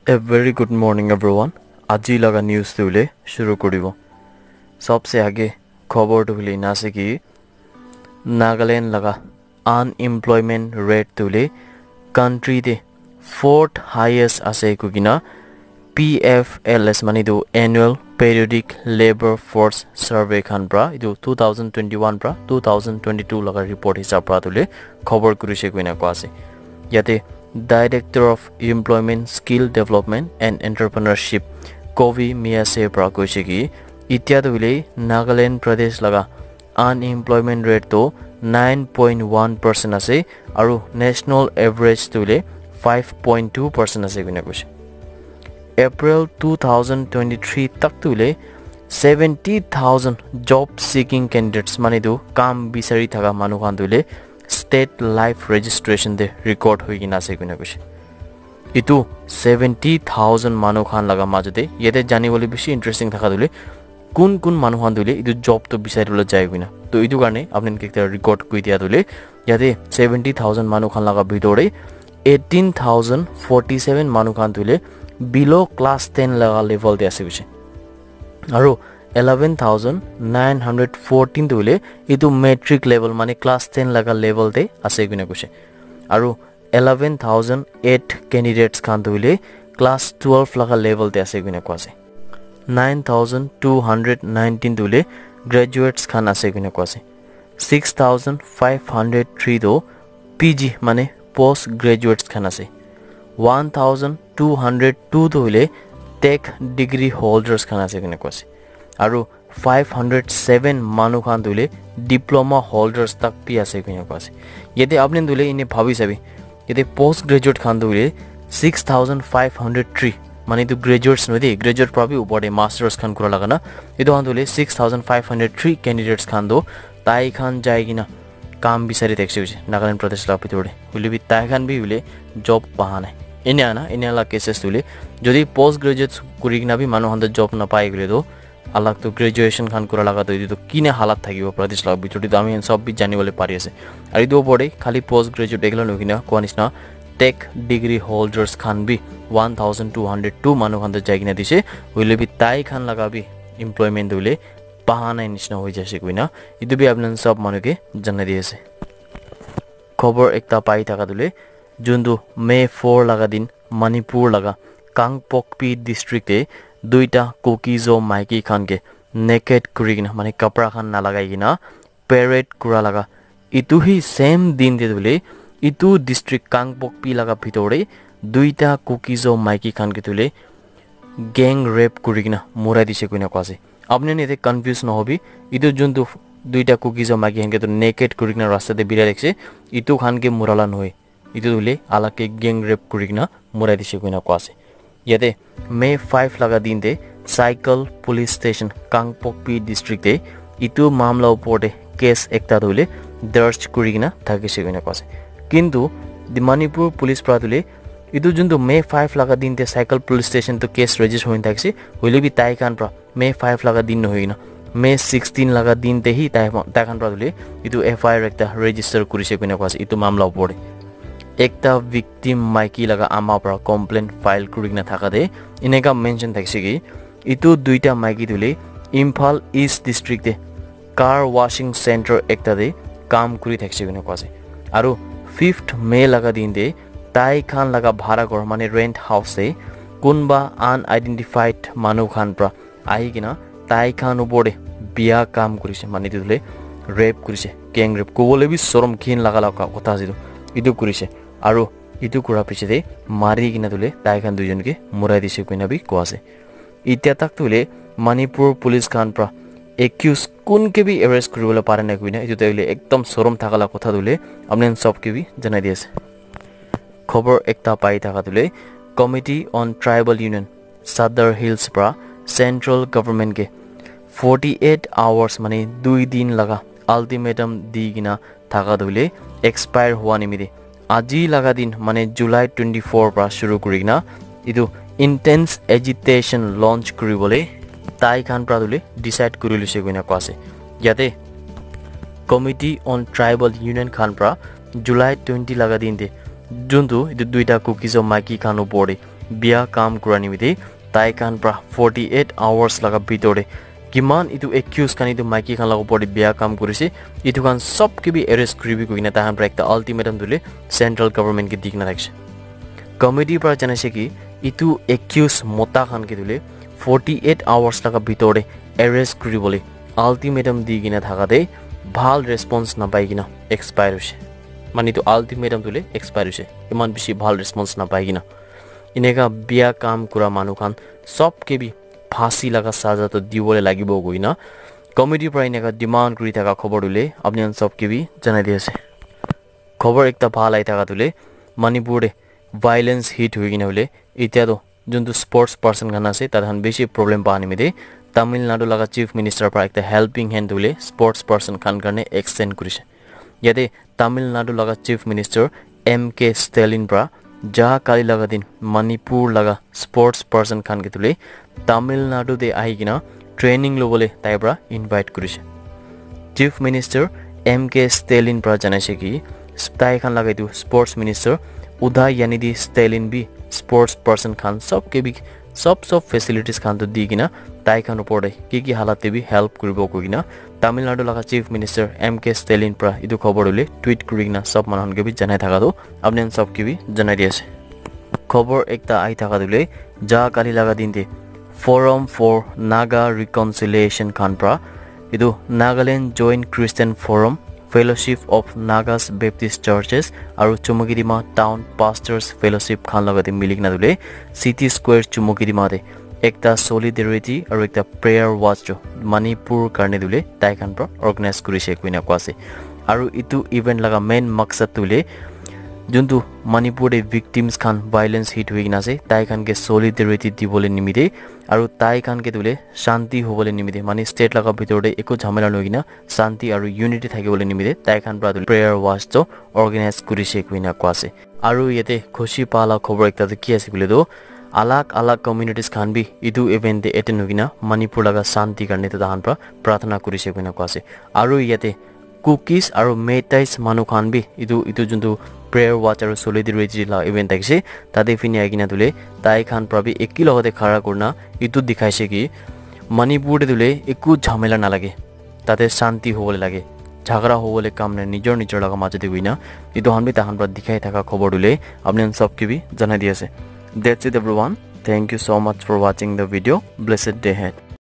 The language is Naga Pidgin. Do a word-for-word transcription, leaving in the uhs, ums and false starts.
A very good morning, everyone. Aji laga news tu hoile shuru kuribo. Sabse aage khobor tu hoile ena ase ki Nagaland laga unemployment rate tu hoile country te fourth highest ase koi kena P F L S mane tu Annual Periodic Labor Force Survey khan pra, etu two thousand twenty-one pra two thousand twenty-two laga report hisab pra tu hoile khobor kurise koina koa ase. Yate Director of Employment, Skill Development and Entrepreneurship, Kovi Miyase pra koise ki, itya tu hoile Nagaland Pradesh laga unemployment rate tu nine point one percent ase, aru national average tu hoile five point two percent ase koina koise. April two thousand twenty-three tak tu hoile seventy thousand job seeking candidates, mane tu kam bisari thaka manu khan tu hoile state life registration te record hoi kena ase koina koise. Itu seventy thousand manu khan laga majote yate jani bole bishi interesting thaka tu hoile kun kun manu khan tu hoile itu job tu bisari bole jai koina. To itu karne apni khan ke ekta record koi dia tu hoile yate seventy thousand manu khan laga bitor te eighteen thousand forty-seven manu khan tu hoile below class ten laga level te ase koise. Aru eleven thousand nine hundred fourteen tu hoile itu matric level mane class ten laga level te ase koina koise. Aru eleven thousand eight candidates khan tu hoile class twelve laga level te ase koina koa ase. Nine thousand two hundred nineteen tu hoile graduates khan ase koina koa ase. Six thousand five hundred three tu P G mane post graduates khan ase. One thousand two hundred two tu hoile tech degree holders khan ase koina koa ase. Aru five hundred seven manu khan tu hoile diploma holders tak bi ase koina koa ase. Yate apni tu hoile ene bhabi sabi, yate post graduate khan tu hoile six thousand five hundred three, mane tu graduates nohoi de, graduate pra bi upor te masters khan kura laga na, etu khan tu hoile six thousand five hundred three candidates khan tu tai khan jai kena kam bisari thakise hoise Nagaland Pradesh laga bitor te. Hoile bi tai khan bi hoile job paha nai. Ene ana, ene la cases tu hoile jodi post graduate kuri kena bi manu khan tu job napai koile tu, alag tu graduation khan kura laga tu etu tu kine halat thakibo Pradesh laga bitor te tu ami khan sob bi jani bole pari ase. Aru etu upor te khali post graduate ekla nohoi kena koa nishina tech degree holders khan bi one thousand two hundred two manu khan tu jai kena dise. Hoile bi tai khan laga bi employment tu hoile paha nai nishina hoi jaise koina etu bi apni khan sob manu ke janai di ase. Khobor ekta pai thaka tu hoile, juntu May four laga din Manipur laga Kangpokpi district te duita Kuki-Zo maiki khan ke naked kuri kena, mane kapra khan nalagai kena parade kura laga, itu hi same din te tu hoile itu district Kangpokpi laga bitor te duita Kuki-Zo maiki khan ke tu hoile gang rape kuri kena murai dise koina koa ase. Apni khan yate confuse nohobi, itu juntu duita Kuki-Zo maiki khan ke tu naked kuri kena rasta te birai thakise, itu khan ke murala nohoi. Itu tu hoile alag ke gang rape kuri kena murai dise koina koa ase. Yate May five laga din te Saikul Police Station, Kangpokpi District te itu mamla upor te case ekta tu hoile darj kuri kena thakise koina koa ase. Kintu the Manipur Police pra tu hoile itu juntu May five laga din te Saikul Police Station tu case register hoi thakise, hoile bi tai khan pra May five laga din nohoi kena May sixteen laga din te hi tai, tai khan pra tu hoile itu F I R ekta register kurise koina koa ase itu mamla upor te. Ekta victim maiki laga ama pra complaint file kuri kena thaka te eneka mention thakise ki itu duita maiki tu hoile Imphal East District te car washing center ekta te kam kuri thakise koina koa ase. Aru fifth May laga din te tai khan laga bhara ghor mane rent house te kunba unidentified manu khan pra ahi kena tai khan upor te biya kam kurise, mane etu tu hoile rape kurise, gang rape kobole bi sorom khin laga laga kotha ase etu, etu kurise. Aru etu kura piche te mari kena tu hoile tai khan duijon ke murai dise koina bi koa ase. Itya tak tu hoile Manipur Police khan pra accused kun ke bi arrest kuri bole pare nai koina, etu tu hoile ekdom sorom thaka laga kotha tu hoile apni khan sob ke bi janai di ase. Khobor ekta pai thaka tu hoile Committee on Tribal Union Sadar Hills pra central government ke forty-eight hours mane dui din laga ultimatum di kena thaka tu hoile expire hua nimite aji laga din mane July twenty-four pra shuru kuri kena etu intense agitation launch kuri bole tai khan pra tu hoile decide kuri lise koina koa ase. Yate Committee on Tribal Union khan pra July twenty laga din te juntu etu duita Kuki-Zo maiki khan upor te Bia kam kura nimite tai khan pra forty eight hours laga bitor te kiman etu accused khan etu maiki khan laga opor te bia kam kurise, etu khan sob ke bi arrest kuribi koina tai khan pra ekta ultimatum dile central government ke di kena thakise. Committee pra janaise ki etu accused mota khan ke dile forty eight hours laga bitor te arrest kuribole ultimatum di kena thaka te bhal response napai kena expire hoise. Mane etu ultimatum dile expire hoise, iman bishi bhal response napai kena. Eneka bia kam kura manu khan sob ke bi phasi laga saza to dibole lagibo koina committee pra eneka demand kuri thaka khobor dile apni khan sob ke bi janai di ase. Khobor ekta bhal ahi thaka dile Manipur te violence hit hui kena hole etia to juntu sports person khan ase tai khan bishi problem pa nimite Tamil Nadu laga chief minister pra ekta helping hand dile sports person khan karne extend kurise. Yate Tamil Nadu laga chief minister M K Stalin pra ja kali laga din Manipur laga sports person khan ke dile Tamil Nadu te ahi kena training lobole tai pra invite kurise. Chief minister M K Stalin pra janaise ki tai khan laga etu sports minister Udayanithi Stalin bi sports person khan sob ke bi sob sob facilities khan to di kena tai khan opor te ki ki halat te bi help kuribo koi kena Tamil Nadu laga chief minister M K Stalin pra etu khobor dile tweet kuri kena sob manu khan ke bi janai thaka to apni khan sob ke bi janai di ase. Khobor ekta ahi thaka dile ja kali laga din te Forum for Naga Reconciliation khan pra etu Nagaland Joint Christian Forum, Fellowship of Nagas Baptist Churches aru Chumoukedima Town Pastors Fellowship khan laga te mili kena dile City Square Chumoukedima te ekta solidarity aru ekta prayer watch to Manipur karne dile tai khan pra organize kurise koina koa ase. Aru etu event laga main maksad tu hule juntu Manipur te victims khan violence hit hui kena ase tai khan ke solidarity dibole nimite aru tai khan ke dile shanti hobole nimite mane state laga bitor te eku jhamela noi kena shanti aru unity thakibole nimite tai khan pra dile prayer watch to organize kurise koina koa ase. Aru yate khushi pa la khobor ekta tu ki ase koile tu alag alag communities khan bi etu event te attend hui kena Manipur laga shanti karne tu tai khan pra pratana kurise koina koa ase. Aru yate Kukis aru Meiteis manu khan bi etu etu juntu prayer watch aru solidarity la event thakise tate phine ahi kena dile tai khan pra bi eki logote khara kurina etu dikhaise ki Manipur te dile eku jhamela nalage, tate shanti hobole lage, jhagara hobole kam nai, nijor nijor laga majo te hoina etu khan bi tai khan pra dikhai thaka khobor dile apni khan sob ke bi janai di ase. That's it everyone. Thank you so much for watching the video. Blessed day ahead.